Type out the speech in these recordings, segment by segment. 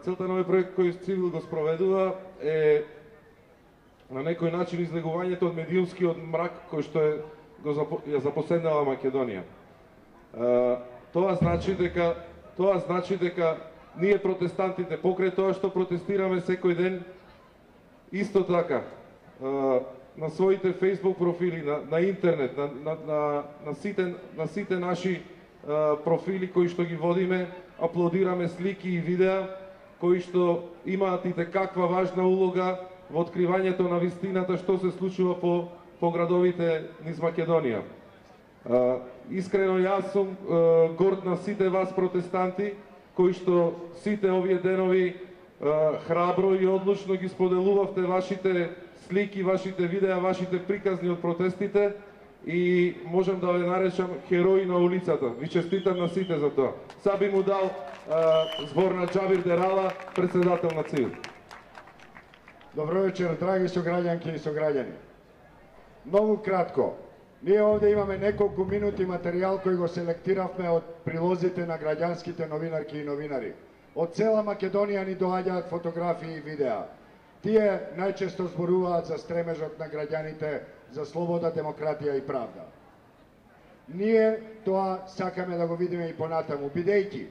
целта на овој проект кој Цивил го спроведува е на некој начин излегувањето од медиумскиот мрак кој што ја запоседнала Македонија. Тоа значи дека ние протестантите покрај тоа што протестираме секој ден, исто така на своите Facebook профили, на интернет, на сите наши профили кои што ги водиме, аплодираме слики и видеа кои што имаат и каква важна улога во откривањето на вистината што се случува по градовите низ Македонија. Искрено јас сум горд на сите вас протестанти кои што сите овие денови храбро и одлучно ги споделувавте вашите слики, вашите видеа, вашите приказни од протестите и можам да ве наречам херои на улицата. Ви честитам на сите за тоа. Сега би му дал збор на Џабир Дерала, председател на Цивил. Добро вечер, драги сограѓанки и сограѓани. Многу кратко. Ние овде имаме неколку минути материјал кој го селектиравме од прилозите на граѓанските новинарки и новинари. Од цела Македонија ни доаѓаат фотографии и видеа. Тие најчесто зборуваат за стремежот на граѓаните за слобода, демократија и правда. Ние тоа сакаме да го видиме и понатаму, бидејќи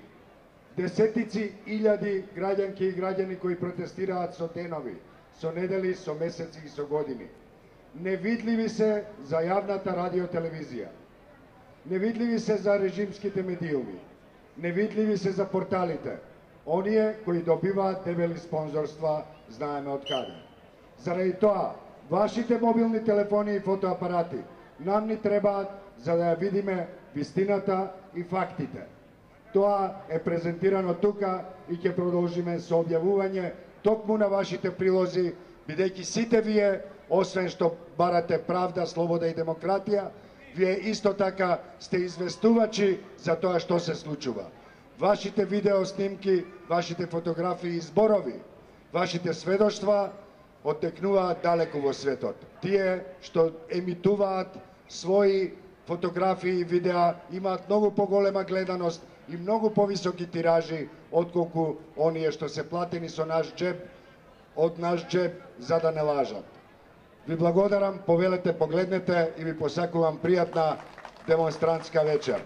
десетици илјади граѓанки и граѓани кои протестираат со денови, со недели, со месеци и со години. Невидливи се за јавната радиотелевизија. Невидливи се за режимските медиуми. Невидливи се за порталите. Оние кои добиваат дебели спонзорства, знаеме од каде. Заради тоа, вашите мобилни телефони и фотоапарати нам ни требаат за да ја видиме вистината и фактите. Тоа е презентирано тука и ќе продолжиме со објавување токму на вашите прилози, бидејќи сите вие, освен што барате правда, слобода и демократија, вие исто така сте известувачи за тоа што се случува. Вашите видеоснимки, вашите фотографии и зборови, вашите сведоштва оттекнуваат далеку во светот. Тие што емитуваат своји фотографии и видеа имаат многу поголема гледаност и многу повисоки тиражи отколку оние што се платени со наш џеб, од наш џеб за да не лажат. Ви благодарам, повелете, погледнете и ви посакувам пријатна демонстрантска вечер.